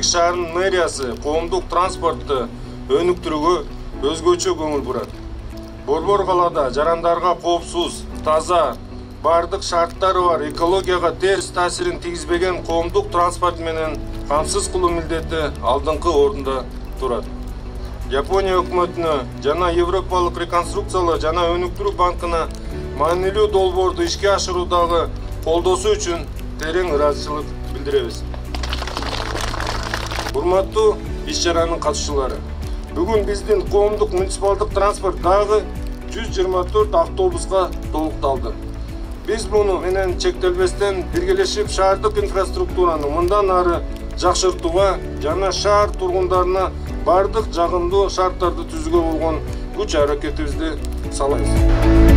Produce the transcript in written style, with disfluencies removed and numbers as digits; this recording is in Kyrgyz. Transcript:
Терек шаарынын мэриясы коомдук транспортты өнүктүрүүгө өзгөчө көңүл бурат. Борбор калаада жарандарга коопсуз, таза, бардык шарттары бар, экологияга терс таасирин тийгизбеген коомдук транспорт менен камсыз кылуу милдети алдыңкы орунда турат. Япония өкмөтүнө жана Европалык реконструкциялоо жана өнүктүрүү банкына маанилүү долбоорду ишке ашыруудагы колдоосу үчүн терең ыраазычылык билдиребиз. Урматтуу иш-чаранын катышчылары, бүгүн биздин коомдук муниципалдык транспорт дагы 124 автобуска толукталды. Биз муну менен чектелбестен биргелешип шаардык инфраструктураны мындан ары жакшыртууга жана шаар тургундарына бардык жагымдуу шарттарды түзүүгө болгон күч аракетибизди салабыз.